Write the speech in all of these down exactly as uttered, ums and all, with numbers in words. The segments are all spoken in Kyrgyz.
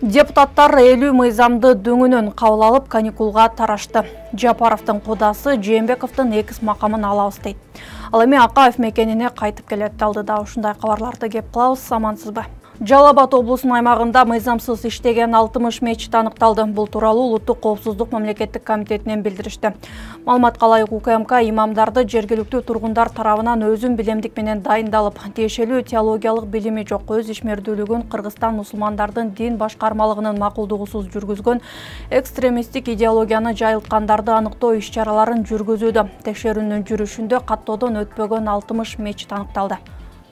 Депутаттар элүү мыйзамды дөңүнөн кабыл алып каникулга тарашты. Жапаровдун кудасы Жээнбековдун экис макамын алабыз дейт. Ал эми Акаев мекенине кайтып келет. Алдыда ушундай кабарларды кеп кылабыз, амансызбы? Жалал Абад облусунун аймагында мыйзамсыз иштеген алтымыш мечит аныкталды. Бул тууралуу Улуттук коопсуздук мамлекеттик комитетинен билдиришти. Маалыматка ылайык УКМК имамдарды жергиликтүү тургундар тарабынан өзүн билемдик менен дайындалып, тиешелүү теологиялык билими жок өз ишмердүүлүгүн Кыргызстан мусулмандардын дин башкармалыгынын макулдугусуз жүргүзгөн экстремисттик идеологияны жайылткандарды аныктоо иш-чараларын жүргүзүүдө. Текшерүүнүн жүрүшүндө каттоодон өтпөгөн алтымыш мечит аныкталды.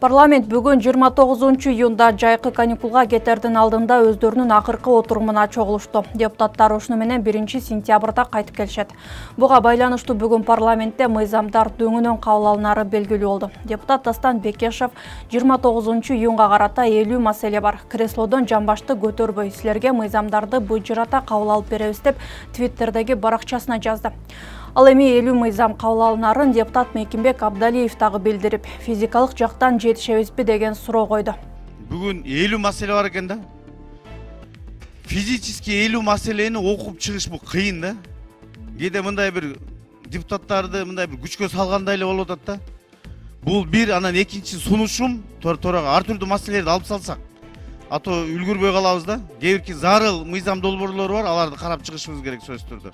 Парламент бүгүн жыйырма тогузунчу июнда жайкы каникулга кетердин алдында өздөрүнүн акыркы отурумуна чогулушту. Депутаттар ушуну менен биринчи сентябрда кайтып келишет. Буга байланыштуу бүгүн парламентте мыйзамдар дөңүнөн кабыл алынары белгилүү болду. Депутат Дастан Бекешев жыйырма тогузунчу июнга карата элүү маселе бар. Креслодон жамбашты көтөрбөй, силерге мыйзамдарды быжырата кабыл алып беребиз деп Твиттердеги баракчасына жазды. Ал эми элүү мыйзам кабыл алынарын депутат Мекимбек Абдалиев дагы билдирип, физикалык жактан жетишебизби деген суроо койду. Бүгүн элүү маселе бар экен да. Физически элүү маселени окуп чыгыш бул кыйын да. Кээде мындай бир депутаттарды мындай бир күчкө салгандай эле болуп атат да. Бул бир, анан экинчи сунушум тора ар түрдүү маселелерди алып салсак, а то үлгүрбөй калабыз да. Кээ бирки зарыл мыйзам долбоорлору бар, аларды карап чыгышыбыз керек сөзсүз түрдө.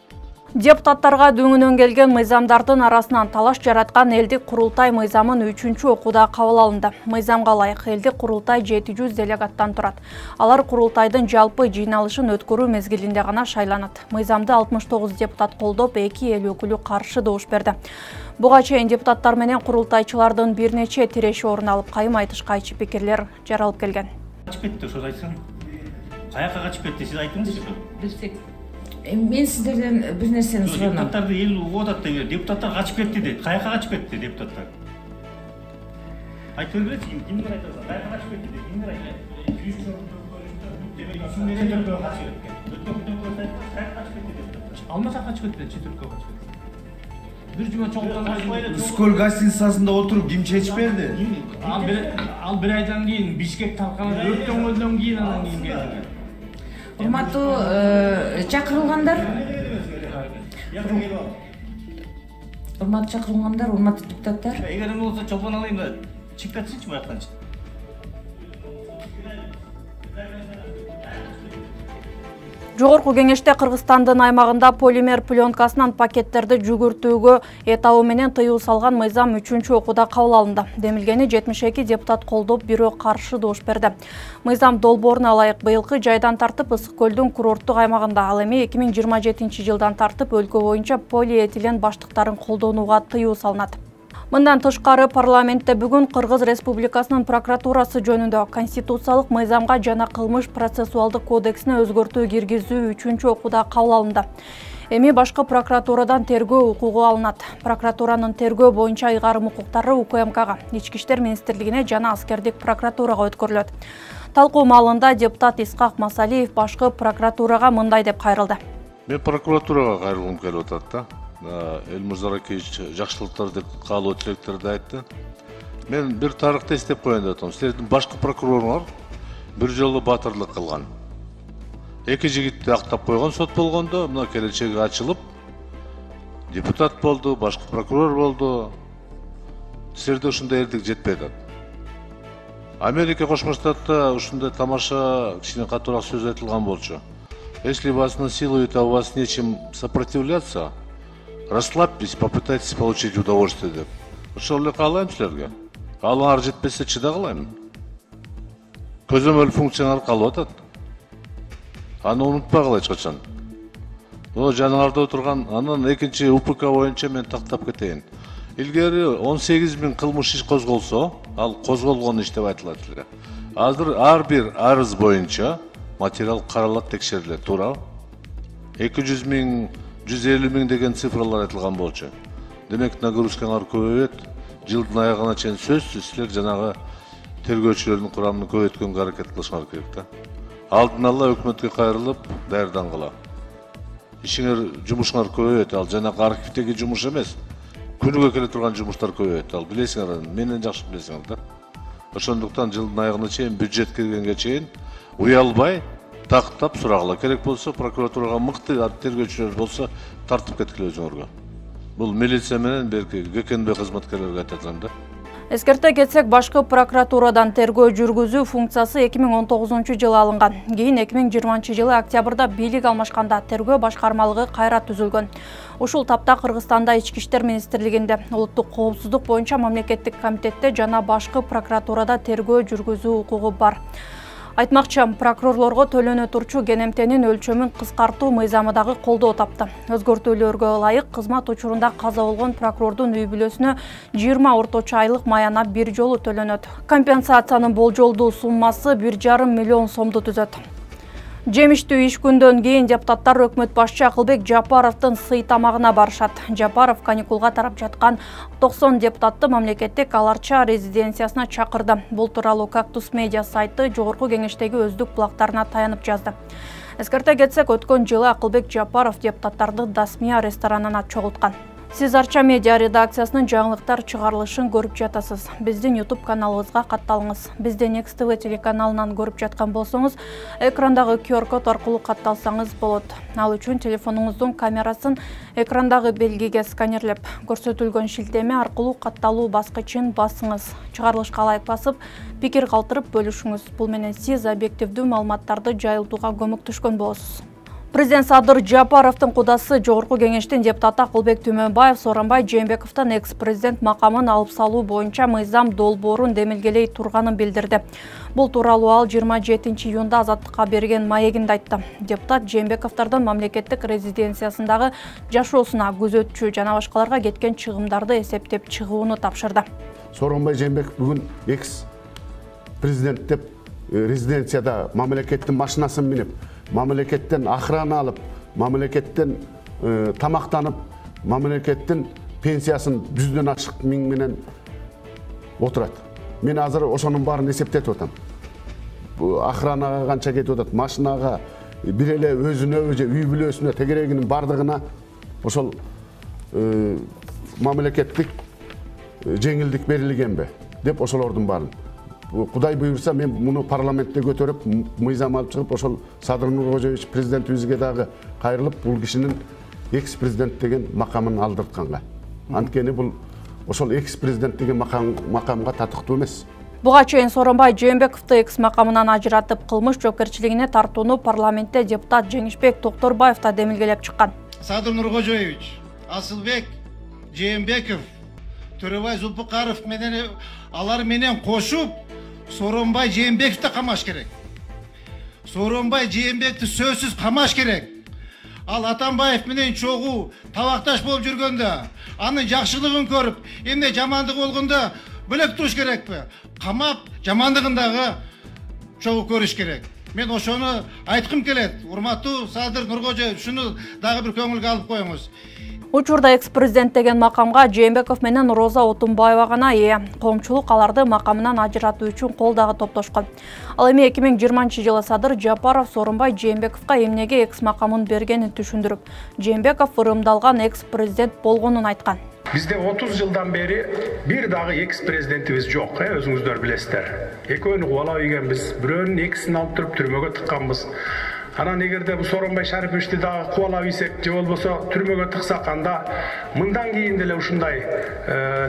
Депутаттарга дөңүнөн келген мыйзамдардын арасынан талаш жараткан элдик курултай мыйзамын үчүнчү окууда кабыл алынды. Мыйзамга ылайык элдик курултай жети жүз делегаттан турат. Алар курултайдын жалпы жыйналышын өткөрүү мезгилинде гана шайланат. Мыйзамды алтымыш тогуз депутат колдоп, эки эл өкүлү каршы добуш берди. Буга чейин депутаттар менен курултайчылардын бир нече тиреши орун алып, кайым айтыш кайчы пикирлер жаралып келген. Качып кетти, ошо айтсаң. Каяка качып кетти, сиз айтыңызчы. Билсек. Мен сиздерден бир нерсени суранам. Депутаттарды эл угуп атат деп, депутаттар качып кетти дейт. Каяка качып кетти депутаттар? Айтып беречи, кимдер айтат? Каяка качып кетти дейт, кимдер айтат? Четиркөө качып кеткен. Өткөн айтат, каяка качып кетти деп. Алмаса качып кетти, четиркөө качып кетти. Бир жума чоңуптан Скол гостиницасында отуруп ким чечип берди? Ал бир ал бир айдан кийин Бишкек тарканып өрттөнгөндөн кийин анан кийин келди. Урматтуу чакырылгандар, урматтуу чакырылгандар, урматтуу депутаттар. Эгер эме болсо чолпон алайын да, чыгып кетсинчи буяктанчы. Жогорку кеңеште Кыргызстандын аймагында полимер пленкасынан пакеттерди жүгүртүүгө этабы менен тыюу салган мыйзам үчүнчү окууда кабыл алынды. Демилгени жетимиш эки депутат колдоп, бирөө каршы добуш берди. Мыйзам долбооруна ылайык быйылкы жайдан тартып Ысык көлдүн курорттук аймагында, ал эми эки миң жыйырма жетинчи жылдан тартып өлкө боюнча полиэтилен баштыктарын колдонууга тыюу салынат. Мындан тышкары парламентте бүгүн Кыргыз Республикасынын прокуратурасы жөнүндө конституциялык мыйзамга жана кылмыш процессуалдык кодексине өзгөртүү киргизүү үчүнчү окууда кабыл алынды. Эми башкы прокуратурадан тергөө укугу алынат. Прокуратуранын тергөө боюнча ыйгарым укуктары УКМКга, Ички иштер министрлигине жана аскердик прокуратурага өткөрүлөт. Талкуу маалында депутат Исхак Масалиев башкы прокуратурага мындай деп кайрылды. Мен прокуратурага кайрылгым келип атат да. Элмур Аракеевич жакшылыктарды каалоо тилектерди айтты. Мен бир тарыхты эстеп коеюн деп атам. Силердин башкы прокуроруңар бир жолу батырлык кылган. Эки жигитти актап койгон сот болгондо, мына келечеги ачылып, депутат болду, башкы прокурор болду. Силерде ушундай эрдик жетпей атат. Америка Кошмо Штатта ушундай тамаша кичине катуураак сөз айтылган болчу. Если вас насилуют, а у вас нечем сопротивляться, расслабьтесь, попытайтесь получить удовольствие деп. Ошол эле каалайм силерге. Каалооңар жетпесе чыда кылайм. Көзөмөл функцияңар калып атат. Аны унутпагыла эч качан. О, жаныңарда отурган, анан экинчи УПК боюнча мен тактап кетейин. Илгери он сегиз миң кылмыш иш козголсо, ал козголгон иш деп айтылат эле. Азыр ар бир арыз боюнча материал каралат, текшерилет, туурабы? эки жүз миң, жүз элүү миң деген цифралар айтылган болчу. Демек нагрузкаңар көбөйөт. Жылдын аягына чейин сөзсүз силер жанагы тергөөчүлөрдүн курамын көбөйткөнгө аракет кылышыңар керек да. Алдын ала өкмөткө кайрылып, даярдангыла. Ишиңер, жумушуңар көбөйөт, ал жанагы архивдеги жумуш эмес. Күнүгө келе турган жумуштар көбөйөт, ал билесиңер, менен жакшы билесиңер да. Ошондуктан жылдын аягына чейин бюджет киргенге чейин уялбай тактап сурагыла, керек болсо прокуратурага мыкты тергөөчүлөр болсо тартып кеткиле өзүңөргө. Бул милиция менен берки ГКНБ кызматкерлерге айтатам да. Эскерте кетсек, башкы прокуратурадан тергөө жүргүзүү функциясы эки миң он тогузунчу жылы алынган. Кийин эки миң жыйырманчы жылы октябрда бийлик алмашканда тергөө башкармалыгы кайра түзүлгөн. Ушул тапта Кыргызстанда Ички иштер министрлигинде, улуттук коопсуздук боюнча мамлекеттик комитетте жана башкы прокуратурада тергөө жүргүзүү укугу бар. Айтмакчы, прокурорлорго төлөнө турчу кенемтенин өлчөмүн кыскартуу мыйзамы дагы колдоо тапты. Өзгөртүүлөргө ылайык кызмат учурунда каза болгон прокурордун үй бүлөсүнө жыйырма орточо айлык маяна бир жолу төлөнөт. Компенсациянын болжолдуу суммасы бир жарым миллион сомду түзөт. Жемиштүү иш күндөн кийин депутаттар өкмөт башчы Акылбек Жапаровдун сый тамагына барышат. Жапаров каникулга тарап жаткан токсон депутатты мамлекеттик аларча резиденциясына чакырды. Бул тууралуу Кактус медиа сайты жогорку кеңештеги өздүк булактарына таянып жазды. Эскерте кетсек, өткөн жылы Акылбек Жапаров депутаттарды Дасмия ресторанына чогулткан. Сиз Арча медиа редакциясынын жаңылыктар чыгарылышын көрүп жатасыз. Биздин YouTube каналыбызга катталыңыз. Бизди Next ти ви телеканалынан көрүп жаткан болсоңуз, экрандагы ку ар код аркылуу катталсаңыз болот. Ал үчүн телефонуңуздун камерасын экрандагы белгиге сканерлеп, көрсөтүлгөн шилтеме аркылуу катталуу баскычын басыңыз. Чыгарылышка лайк басып, пикир калтырып бөлүшүңүз. Бул менен сиз объективдүү маалыматтарды жайылтууга көмөктөшкөн болосуз. Президент Садыр Жапаровдун кудасы жогорку кеңештин депутаты Акылбек Түмөнбаев Сооронбай Жээнбековдун экс-президент макамын алып салуу боюнча мыйзам долбоорун демилгелей турганын билдирди. Бул тууралуу ал жыйырма жетинчи июнда Азаттыкка берген маегинде айтты. Депутат Жээнбековдун мамлекеттик резиденциясындагы жашоосуна, күзөтчү жана башкаларга кеткен чыгымдарды эсептеп чыгууну тапшырды. Сооронбай Жээнбеков бүгүн экс-президент деп резиденцияда мамлекеттин машинасын минип, мамлекеттен охрана алып, мамлекеттен э, тамактанып, мамлекеттин пенсиясын жүздөн ашык миң менен отурат. Мен азыр ошонун баарын эсептетип атам. Охранага канча кетип атат, машинага, бир эле өзүнө, үй бүлөсүнө, тегерегинин бардыгына ошол э, мамлекеттик жеңилдик берилгенби деп ошолордун баарын. Кудай буйрса, мен муну парламентте көтөрүп, мыйзам алып чыгып, ошол Садыр Нуркожоевич президентибизге дагы кайрылып, бул кишинин экс-президент деген макамын алдыртканга. Анткени бул ошол экс-президент деген макам, макамга татыктуу эмес. Буга чейин Сооронбай Жээнбековду экс макамынан ажыратып, кылмыш жоопкерчилигине тартууну парламентте депутат Жеңишбек Токторбаев да демилгелеп чыккан. Садыр Нуркожоевич, Асылбек Жээнбеков, Төрөбай Зулпукаров менен алар менен кошуп Сооронбай Жээнбековду камаш керек. Сооронбай Жээнбековду сөзсүз камаш керек. Ал Атамбаев менен чогуу табакташ болуп жүргөндө, анын жакшылыгын көрүп, эмне жамандыгы болгондо бөлөк туруш керекпи? Камап, жамандыгын дагы чогуу көрүш керек. Мен ошону айткым келет. Урматтуу Садыр Нуркожоевич, шуну дагы бир көңүлгө алып коюңуз. Учурда экс-президент деген макамга Жээнбеков менен Роза Отунбаева гана ээ. Коомчулук аларды макамынан ажыратуу үчүн кол дагы топтошкон. Ал эми эки миң жыйырманчы жылы Садыр Жапаров Сооронбай Жээнбековго эмнеге экс макамын бергенин түшүндүрүп, Жээнбеков ырымдалган экс-президент болгонун айткан. Бизде отуз жылдан бери бир дагы экс-президентибиз жок, э, өзүңүздөр билесиздер. Экөөнү кубалап ийгенбиз, бирөөнүн экисин алып туруп түрмөгө тыкканбыз. Анан эгерде бу Сооронбай Шариповичти дагы кубалап ийсек, же болбосо түрмөгө тыксак, анда мындан кийин деле ушундай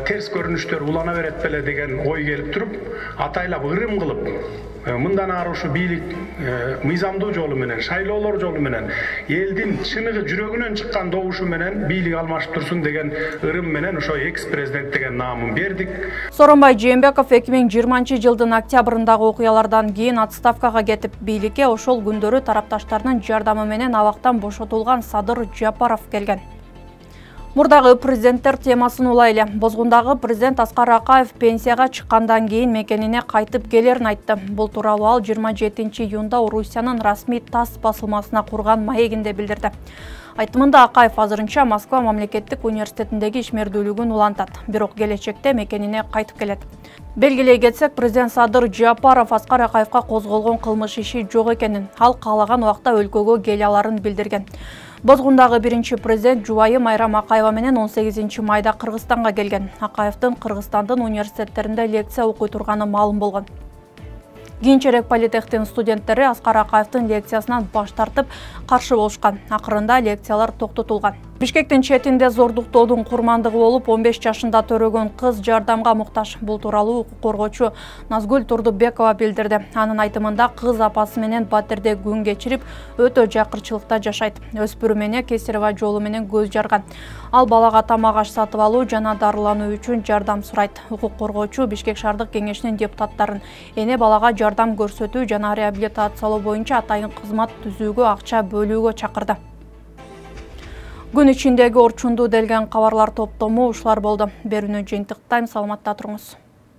терс көрүнүштөр улана берет беле деген ой келип туруп, атайлап ырым кылып, мындан ары ушу бийлик мыйзамдуу жолу менен, шайлоолор жолу менен, элдин чыныгы жүрөгүнөн чыккан добушу менен бийлик алмашып турсун деген ырым менен ошо экс-президент деген наамын бердик. Сооронбай Жээнбеков эки миң жыйырманчы жылдын октябрындагы окуялардан кийин отставкага кетип, бийликке ошол күндөрү тарапташтарынын жардамы менен абактан бошотулган Садыр Жапаров келген. Мурдагы президенттер темасын улайлы. Бозгундагы президент Аскар Акаев пенсияга чыккандан кийин мекенине кайтып келерин айтты. Бул тууралуу ал жыйырма жетинчи июнда Орусиянын расмий ТАСС басылмасына курган маегинде билдирди. Айтымында Акаев азырынча Москва мамлекеттик университетиндеги ишмердүүлүгүн улантат, бирок келечекте мекенине кайтып келет. Белгилей кетсек, президент Садыр Жапаров Аскар Акаевка козголгон кылмыш иши жок экенин, ал каалаган убакта өлкөгө келе аларын билдирген. Бозгундагы биринчи президент жубайы Майрам Акаева менен он сегизинчи майда Кыргызстанга келген. Акаевдин Кыргызстандын университеттеринде лекция окуй турганы маалым болгон. Кийинчерээк политехтин студенттери Аскар Акаевдин лекциясынан баш тартып каршы болушкан. Акырында лекциялар токтотулган. Бишкектин четинде зордуктоодун курмандыгы болуп он беш жашында төрөгөн кыз жардамга муктаж. Бул тууралуу укук коргоочу Назгүл Турдубекова билдирди. Анын айтымында кыз апасы менен батирде күн кечирип, өтө жакырчылыкта жашайт. Өспүрүм эне Кесарева жолу менен көз жарган. Ал балага тамак аш сатып алуу жана дарылануу үчүн жардам сурайт. Укук коргоочу Бишкек шаардык кеңешинин депутаттарын эне балага жардам көрсөтүү жана реабилитациялоо боюнча атайын кызмат түзүүгө акча бөлүүгө чакырды. Күн ичиндеги орчунду делген кабарлар топтому ушулар болду. Берүүнү жыйынтыктайм, саламатта туруңуз.